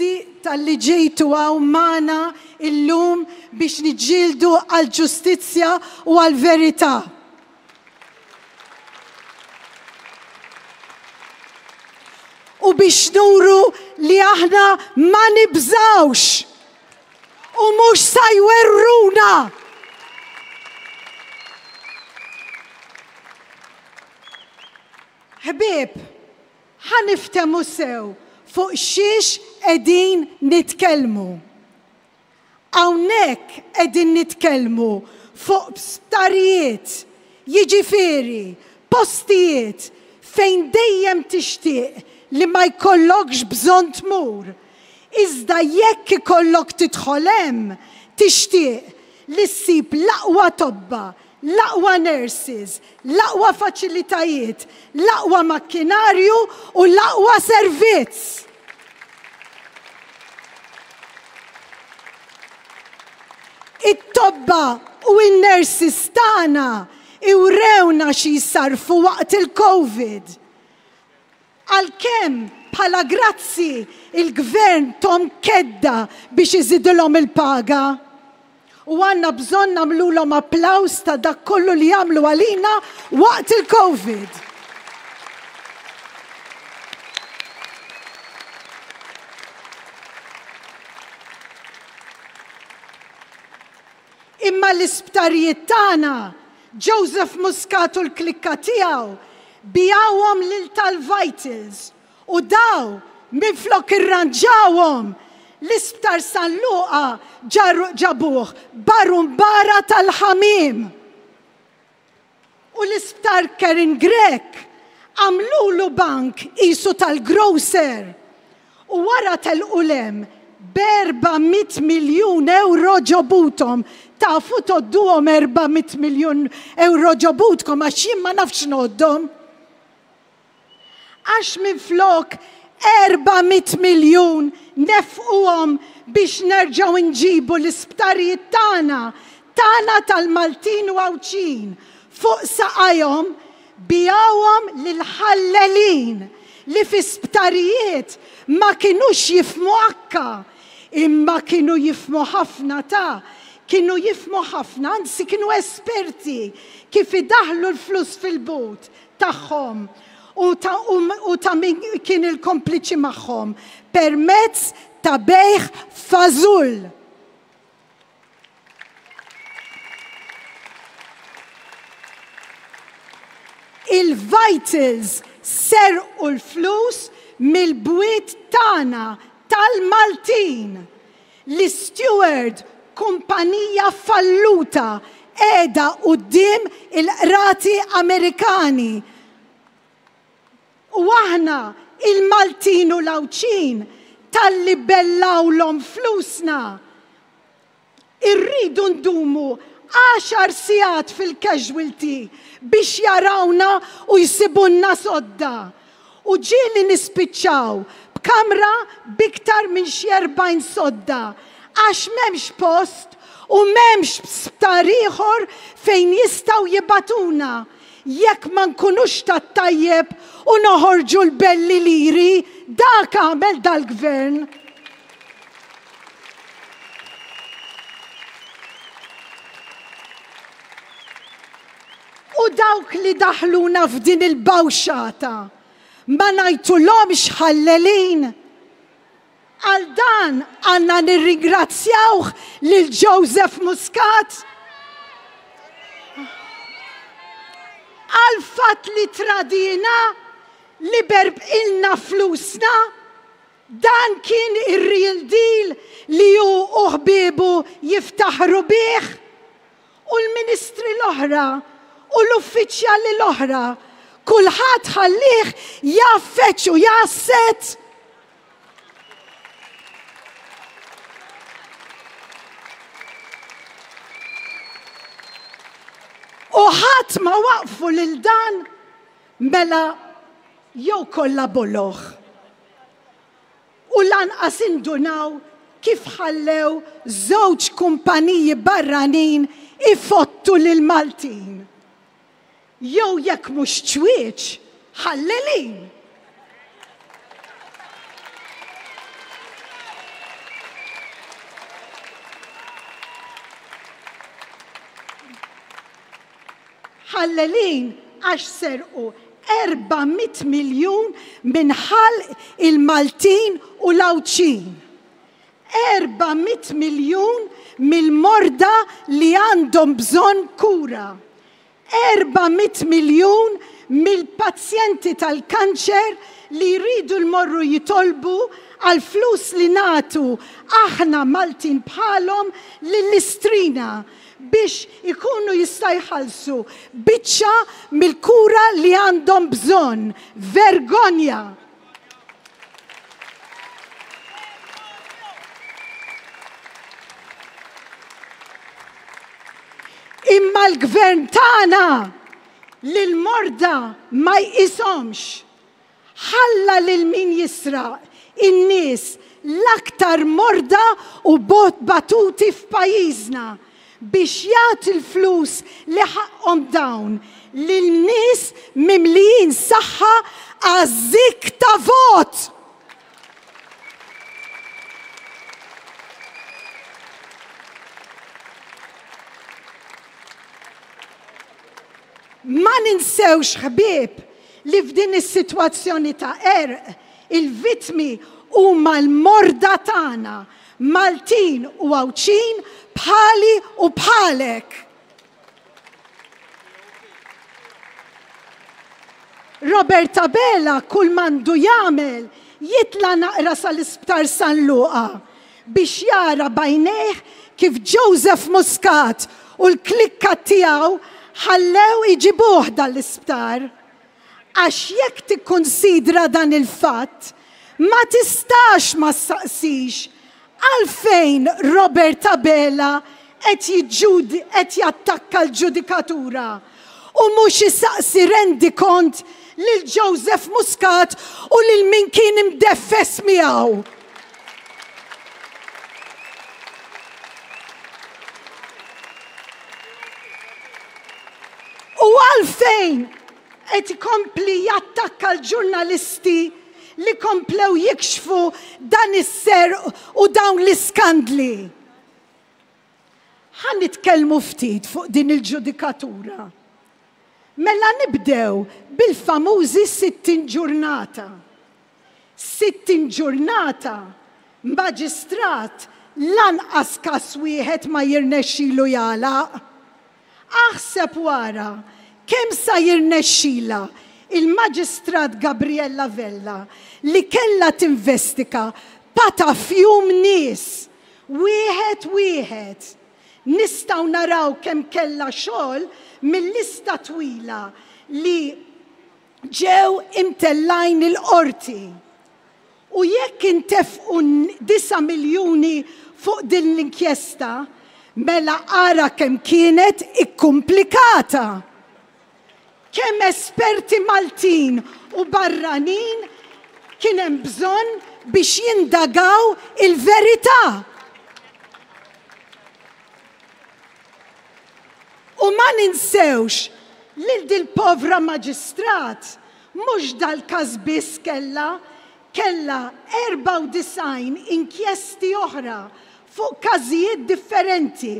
Grazzi talli ġejtu hawn magħna illum biex niġġieldu għall-ġustizzja u għall-verità. U biex nuru li aħna ma nibżgħux u mhux sa jwerruna. Ħbieb, Ħa niftehmu sew fuq xiex qegħdin nitkellmu. Hawnhekk qegħdin nitkellmu fuq sptarijiet, jiġifieri postijiet fejn dejjem tixtieq li ma jkollokx bżonn tmur, iżda jekk ikollok tidħol hemm tixtieq li ssib l-aqwa tobba, l-aqwa nurses, l-aqwa faċilitajiet, l-aqwa makkinarju u l-aqwa servizz. It-tobba u n-nurses tagħna iwrewna xi jsarrfu waqt il-Covid. Għalkemm bħala grazzi il-Gvern thom kedda biex iżidilhom il-paga. U għandna bżonn nagħmlulhom applaws ta' dak kollu li għamlu għalina waqt il-Covid. Imma l-isptarijiet tagħna Joseph Muscat u l-klikka tiegħu biegħuhom lil tal-Vitals u daw minflok irranġawhom, l-Isptar San Luqa ġabuh barumbara tal-ħamiem. U l-Isptar Karen Grech għamlulu bank qisu tal-grocer U wara telqu 'l hemm b'erba' mitt miljun ewro ġo buthom. Tafu tgħodduhom erba' mitt miljun ewro ġo butkom għax jien ma nafx ngħoddhom. Għax minflok 400 miljun nefquhom biex nerġgħu nġibu l-isptarijiet tagħna, tagħna tal-Maltin u Għawdxin, fuq saqajhom, Biegħuhom lill-ħallelin li fi sptarijiet ma kinux jifhmu akka, imma kienu jifhmu ħafna ta' kienu jifhmu ħafna, anzi kienu esperti kif idaħħlu l-flus fil-but tagħhom u ta' u ta' min kien il-kompliċi magħhom permezz ta' bejgħ fażull. Il-Vitals serqu l-flus mill-bwiet tagħna tal-Maltin. L-Isteward, kumpanija falluta, qiegħda quddiem il-qrati Amerikani. U aħna, il-Maltin u l-Għawdxin, talli bellgħulhom flusna, irridu ndumu għaxar sigħat fil-casualty biex jarawna u jsibulna sodda. U ġieli nispiċċaw b'kamra b'iktar minn xi 40 sodda għax m'hemmx post u m'hemmx sptar ieħor fejn jistgħu jibagħtuna Jekk ma nkunux tat-tajjeb u noħorġu l-belli liri, dak għamel dal-Gvern. U dawk li daħluna f'din il-bawxata ma ngħidtulhomx ħallelin? Għal dan għandna nirringrazzjawh lil Joseph Muscat għall-fatt li tradiena, li berbqilna flusna. Dan kien ir-real deal li hu u ħbiebu jiftaħru bih. U l-ministri l-oħra u l-uffiċjali l-oħra, kulħadd ħallieh jgħaffeġ u jgħasset. U ħadd ma waqfu lil dan mela jew kollha boloh. U lanqas indunaw kif ħallew żewġ kumpaniji barranin ifottu lill-Maltin. Jew jekk mhux ċwieċ, ħallelin! Ħallelin għax serqu 400 miljun minn ħalq il-Maltin u l-Għawdxin. 400 miljun mill-morda li għandhom bżonn kura. 400 miljun mill-pazjenti tal-kanċer li jridu jmorru jitolbu għall-flus li nagħtu aħna Maltin bħalhom lill-Istrina biex ikunu jista' jħallsu biċċa mill-kura li għandhom bżonn. Vergonja! Imma l-gvern tagħna lill-morda ma jqishomx. Ħalla lil min jisraq in-nies l-aktar morda u batuti f'pajjiżna biex jagħti l-flus li ħaqqhom dawn lil nies mimlijin saħħa għaż-żikk ta' vot! Ma ninsewx ħbieb li f'din is-sitwazzjoni ta' qerq, il-vittmi huma l-morda tagħna, Maltin u Għawdxin bħali u bħalek. Robert Abela kull m'għandu jagħmel jitla' naqra sal-Isptar San Luqa biex jara b'għajnejh kif Joseph Muscat u l-klikka tiegħu ħallew iġibuh dan l-isptar. Għax jekk tikkunsidra dan il-fatt, ma tistax ma ssaqsix għalfejn Robert Abela qed jiġġud qed jattakka l-ġudikatura u mhux isaqsi rendikont lil Joseph Muscat u lil min kien imdeffes miegħu. U għalfejn qed ikompli jattakka l-ġurnalisti li komplew jikxfu dan is-serq u dawn l-iskandli? Ħa nitkellmu ftit fuq din il-ġudikatura. Mela nibdew bil-famużi 60 ġurnata. 60 ġurnata maġistrat lanqas każ wieħed ma jirnexxilu jagħlaq. Aħseb u ara kemm sa jirnexxilha il-Maġistrat Gabriella Vella li kellha tinvestika patafjum nies, wieħed wieħed. Nistgħu naraw kemm kellha xogħol mil-lista twila li ġew imtellgħin il-Qorti. U jekk intefqu disa' miljuni fuq din l-inkjesta, mela ara kemm kienet ikkumplikata! Kemm esperti Maltin u barranin kien hemm bżonn biex jindagaw il-verità! U ma ninsewx lil dil-povra maġistrat Mhux dal-każ biss kellha, kellha 94 inkjesti oħra fuq każijiet differenti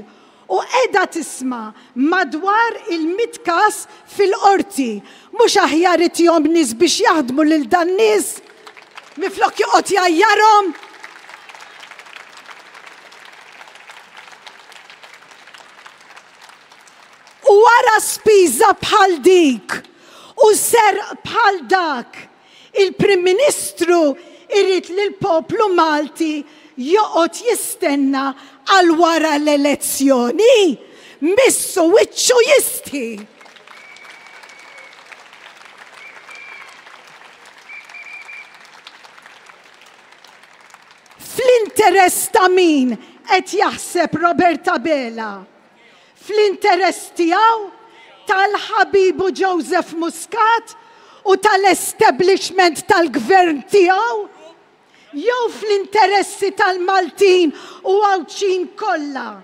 u qiegħda tisma' madwar il-mitt każ fil-Qorti. Mhux aħjar itihom nies biex jaħdmu lil dan-nies minflok joqgħod jgħajjarhom? U wara spiża bħal dik u serq bħal dak, il-Prim Ministru irid li l-poplu Malti joqgħod jistenna għal wara l-elezzjoni? Missu wiċċu jistħi! Fl-interess ta' min qed jaħseb Robert Abela? Fl-interess tiegħu, tal-ħabibu Joseph Muscat u tal-establishment tal-gvern tiegħu? Jew fl-interessi tal-Maltin u Għawdxin kollha,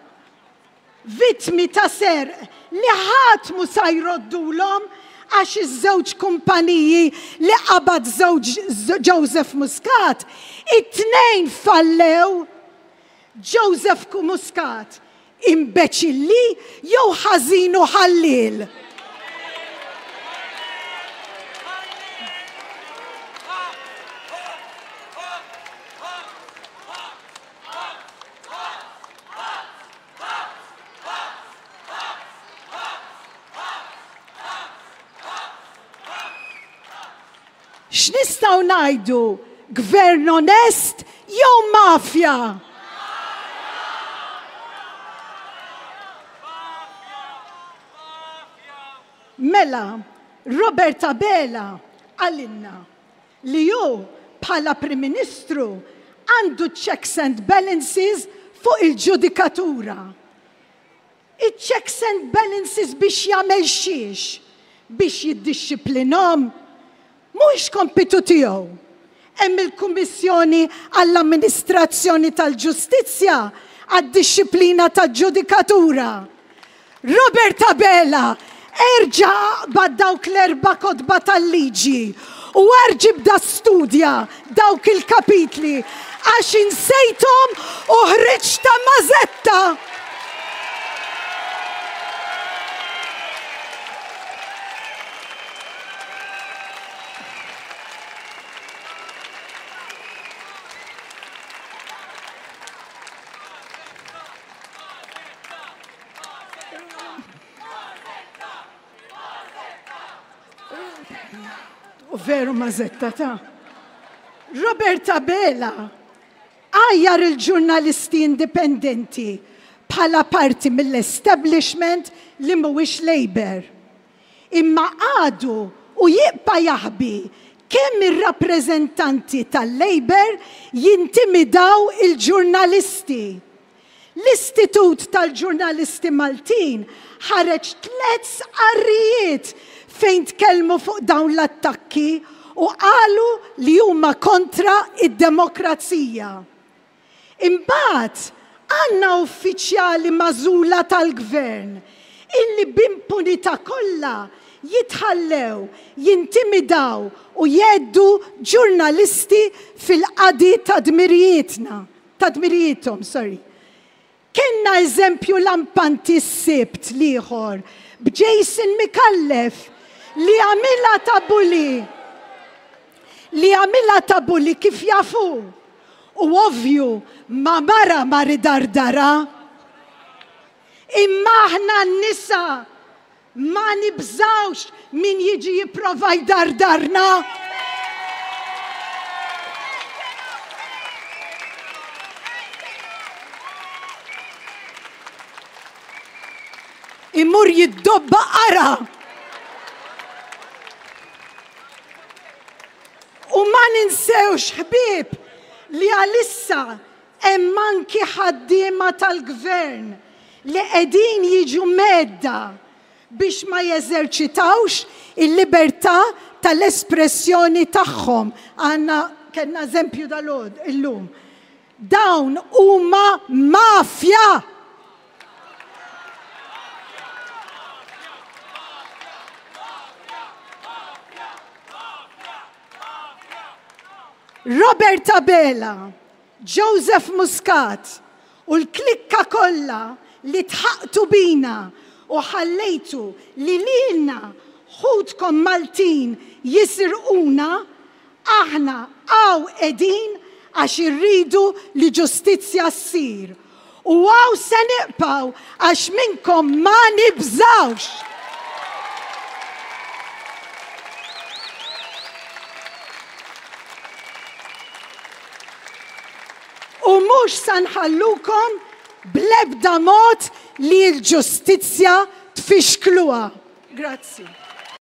vittmi ta' serq li ħadd mhu sa jroddulhom għax iż-żewġ kumpaniji li qabad żewġ Joseph Muscat, it-tnejn fallew? Joseph Muscat Imbeċilli jew ħażin u ħalliel? X'nistgħu ngħidu? Gvern onest jew mafja? Mela, Robert Abela qalilna li hu bħala Prim Ministru għandu checks and balances fuq il-ġudikatura. Iċ-checks and balances biex jagħmel xiex? Biex jiddixxiplinhom? Mhuwiex kompitu tiegħu. Hemm il-Kummissjoni għall-Amministrazzjoni tal-Ġustizzja għad-dixxiplina tal-ġudikatura. Robert Abela, erġa' aqbad dawk l-erba' kotba tal-liġi u erġa' ibda studja dawk il-kapitli għax insejthom u ħriġt ta' mażetta! U veru mażetta ta' Robert Abela għajjar il-ġurnalisti indipendenti bħala parti mill-establishment li mhuwiex Labour. Imma għadu u jibqa' jaħbi kemm ir-rappreżentanti tal-Labour jintimidaw il-ġurnalisti. L-Istitut tal-Ġurnalisti Maltin ħareġ tlett sqarrijiet fejn tkellmu fuq dawn l-attakki u qalu li huma kontra d-demokrazija. Imbagħad għandna uffiċjali magħżula tal-Gvern illi b'impunità kollha jitħallew jintimidaw u jgħeddu ġurnalisti fil-qadi ta' dmirijietna. Ta' dmirijiethom, sorry. Kellna eżempju lampanti s-Sibt l-ieħor b'Jason Micallef li għamilha ta' bully li għamilha ta' bully kif jaf hu. U ovvju ma' mara mar idardarha. Imma aħna n-nisa Ma nibżgħux min jiġi jipprova jdardarna. Imur jiddobba qara. U ma ninsewx ħbieb li għalissa Hemm anki ħaddiema tal-Gvern li qegħdin jiġu mhedda biex ma jeżerċitawx il-libertà tal-espressjoni tagħhom. Għandna, kellna eżempju dalgħodu, illum. Dawn huma mafja! Robert Abela Joseph Muscat u l-klikka kollha li dħaqtu bina u ħallejtu li lilna ħutkom Maltin jisirquna, aħna hawn qegħdin għax irridu li ġustizzja ssir. U hawn se nibqgħu għax minnkom ma nibżgħux! U mhux sa nħallukom bl-ebda mod li l-ġustizzja tfixkluha. Grazzi.